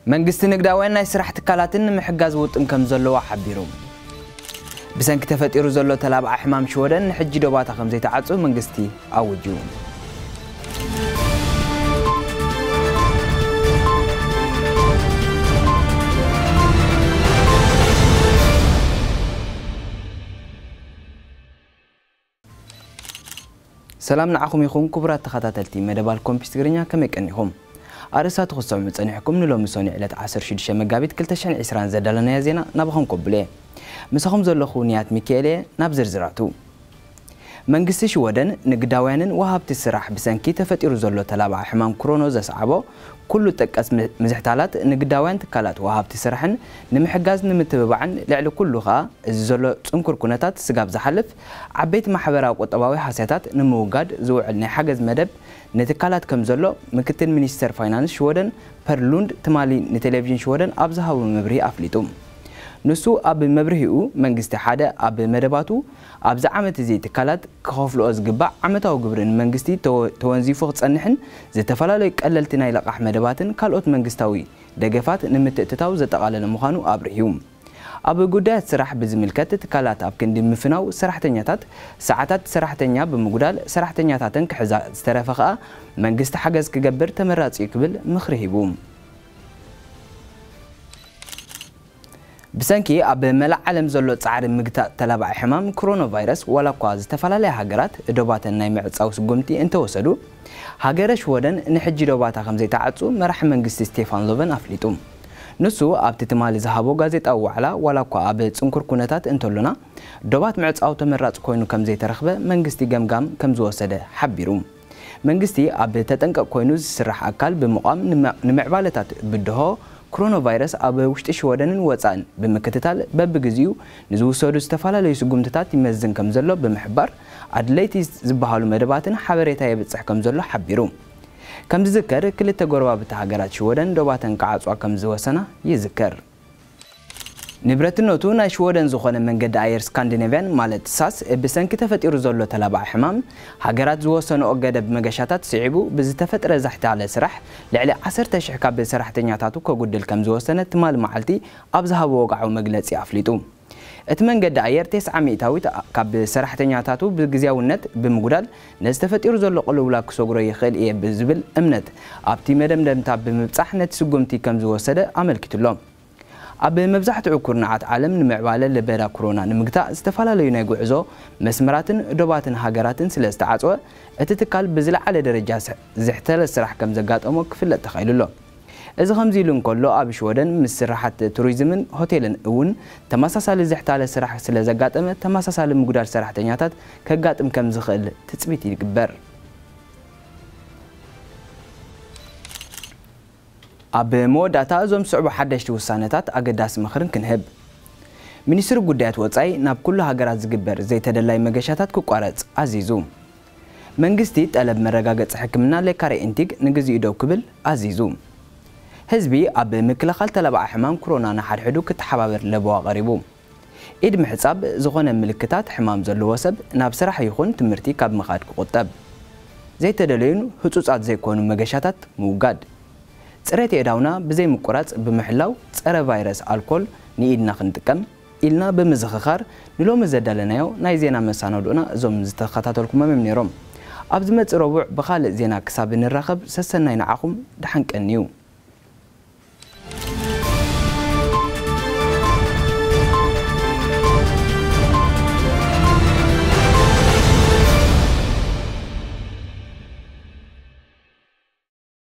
መንግስቲ ንግዳውያን ናይ ስራሕ ትካላትን ንምሕጋዝ ውጥን ከም ዘለዎ ሓቢሩ። ብሰንኪ ተፈጢሩ ዘሎ ተላብዓ ሕማም ሽወደን ንሕጂ ዶባታ ከም ዘይተዓጹ መንግስቲ ኣውጁ። ሰላም ንዓኹም ይኹን ክቡራት ተኸታተልቲ መደብ ኣልኮምፒስ ትግርኛ፣ ከመይ ቀኒኹም? ኣርእስታት ክሰሙ ጸኒሕኩም። ንሎሚ ሰኑይ ዕለት ዓሰርተ ሽዱሽተ መጋቢት ክልተ ሽሕን ዕስራን ዘዳለናዮ ዜና ናባኹም ከብሎ እየ። ምሳኹም ዘለኹ ንያት ሚካኤል እየ። ናብ ዝርዝራቱ። መንግስቲ ሽወደን ንግዳውያንን ወሃብቲ ስራሕ ብሰንኪ ተፈጢሩ ዘሎ ተላባዒ ሕማም ክሮኖ ዘስዓቦ ኩሉ ጠቀስ ም-፣ ምዝሕታላት ንግዳውያን ትካላት ወሃብቲ ስራሕን ንምሕጋዝ ንምትብባዕን ልዕሊ ኩሉ ኸኣ እዚ ዘሎ ጽንኩር ኩነታት ስጋብ ዝሓልፍ ዓበይቲ ማሕበራዊ ቁጠባዊ ሃስያታት ንምውጋድ ዝውዕል ናይ ሓገዝ መደብ ንትካላት ከም ዘሎ ምክትል ሚኒስተር ፋይናንስ ሽወደን ፐር ሉንድ ትማሊ ንቴሌቪዥን ሽወደን ኣብ ዝሃቦ መብርሂ ኣፍሊጡ። ንሱ ኣብ መብርሂኡ መንግስቲ ሓደ ኣብ መደባቱ ኣብዚ ዓመት እዚ ትካላት ክኸፍልኦ ዝግባእ ዓመታዊ ግብሪ ንመንግስቲ ተወ-፣ ተወንዚፉ ክጸንሕን ዝተፈላለዩ ቀለልቲ ናይ ለቓሕ መደባትን ካልኦት መንግስታዊ ደገፋት ንምትእትታው ዘጠቓለለ ምዃኑ ኣብሪሁ። ኣብ ጉዳያት ስራሕ ብዝምልከት ትካላት ኣብ ክንዲ ምፍናው ሰራሕተኛታት ሰዓታት ሰራሕተኛ ብምጉዳል ሰራሕተኛታተን ክሕዛ ዝተረፈ ከኣ መንግስቲ ሓገዝ ክገብር ተመራጺ እዩ ክብል ምኽሪ ሂቡ። ብሰንኪ ኣብ መላእ ዓለም ዘሎ ጻዕሪ ምግታእ ተላባዒ ሕማም ክሮኖ ቫይረስ ዋላ እኳ ዝተፈላለያ ሃገራት ዶባተን ናይ ምዕጻው ስጉምቲ እንተወሰዱ፣ ሃገረ ሽወደን ንሕጂ ዶባታ ከም ዘይተዓጹ መራሒ መንግስቲ ስቴፋን ሎቨን ኣፍሊጡ። ንሱ ኣብቲ ትማሊ ዝሃቦ ጋዜጣዊ ዋዕላ ዋላ እኳ ኣብ ጽንኩር ኩነታት እንተሎና ዶባት ምዕጻው ተመራጺ ኮይኑ ከም ዘይተረኽበ መንግስቲ ገምጋም ከም ዝወሰደ ሓቢሩ። መንግስቲ ኣብ ተጠንቀቕ ኮይኑ ዝስራሕ ኣካል ብምቋም ንመ-፣ ንምዕባለታት ብድሆ ክሮኖ ቫይረስ ኣብ ውሽጢ ሽወደንን ወጻእን ብምክትታል በብግዚኡ ንዝውሰዱ ዝተፈላለዩ ስጉምትታት ይመዝን ከም ዘሎ ብምሕባር ኣድለይቲ ዝበሃሉ መደባትን ሓበሬታ የብጽሕ ከም ዘሎ ሓቢሩ። ከም ዝዝከር ክልተ ጎረባብቲ ሃገራት ሽወደን ዶባተን ክዓጽዋ ከም ዝወሰና ይዝከር። ንብረትነቱ ናይ ሽወደን ዝኾነ መንገዲ ኣየር ስካንዲኔቭያን ማለት ሳስ ብሰንኪ ተፈጢሩ ዘሎ ተላባዒ ሕማም ሃገራት ዝወሰንኦ ገደብ መገሻታት ስዒቡ ብዝተፈጥረ ዛሕታለ ስራሕ ልዕሊ ዓሰርተ ሽሕ ካብ ሰራሕተኛታቱ ከጉድል ከም ዝወሰነ ትማሊ መዓልቲ ኣብ ዝሃቦ ወግዓዊ መግለጺ ኣፍሊጡ። እቲ መንገዲ ኣየር ተስዓ ሚእታዊት ካብ ሰራሕተኛታቱ ብግዝያውነት ብምጉዳል ነዚ ተፈጢሩ ዘሎ ቅልውላው ክሰግሮ ይኽእል እየ ብዝብል እምነት ኣብቲ መደምደምታ ብምብጻሕ ነቲ ስጉምቲ ከም ዝወሰደ ኣመልኪቱ ኣሎ። ኣብ መብዛሕትኡ ኩርናዓት ዓለም ንምዕባለ ለበዳ ክሮና ንምግታእ ዝተፈላለዩ ናይ ጉዕዞ መስመራትን ዶባትን ሃገራትን ስለ ዝተዓጽወ፣ እቲ ትካል ብዝለዓለ ደረጃ ስሕ-፣ ዝሕተለ ስራሕ ከም ዘጋጠሞ ክፍለጥ ተኻኢሉ ኣሎ። እዚ ከምዚ ኢሉ እንከሎ፣ ኣብ ሽወደን ምስ ስራሓት ቱሪዝምን ሆቴልን እውን ተመሳሳሊ ዝሕታለ ስራሕ ስለ ዘጋጠመ፣ ተመሳሳሊ ምጉዳል ሰራሕተኛታት ከጋጥም ከም ዝኽእል ትጽቢት ይግበር። ኣብ መወዳእታ እዞም ዝስዕቡ ሓደሽቲ ውሳነታት ኣገዳሲ ምኽርን ክንህብ። ሚኒስትሪ ጉዳያት ወጻኢ ናብ ኩሉ ሃገራት ዝግበር ዘይተደላይ መገሻታት ክቋረጽ ኣዚዙ። መንግስቲ ጠለብ መረጋገጺ ሕክምና ሌካሬ ኢንቲግ ንግዚኡ ደው ክብል ኣዚዙ። ህዝቢ ኣብ ምክልኻል ተላባዒ ሕማም ክሮና ንሓድሕዱ ክተሓባበር ለበዋ ቀሪቡ። ኢድ ምሕጻብ ዝኾነ ምልክታት ሕማም ዘለዎ ሰብ ናብ ስራሕ ይኹን ትምህርቲ ካብ ምኻድ ክቑጠብ። ዘይተደለዩን ህጹጻት ዘይኮኑ መገሻታት ምውጋድ። ጽሬት የእዳውና ብዘይ ምቁራጽ ብምሕላው ጸረ ቫይረስ ኣልኮል ንኢድና ክንጥቀም ኢልና ብምዝኽኻር ንሎሚ ዘዳለናዮ ናይ ዜና መሳናድኦና እዞም ዝተኸታተልኩሞም እዮም ነይሮም። ኣብ ዝመጽእ ረቡዕ ብኻልእ ዜና ክሳብ እንራኸብ ሰሰናይ ንዓኹም፣ ደሓን ቀንዩ።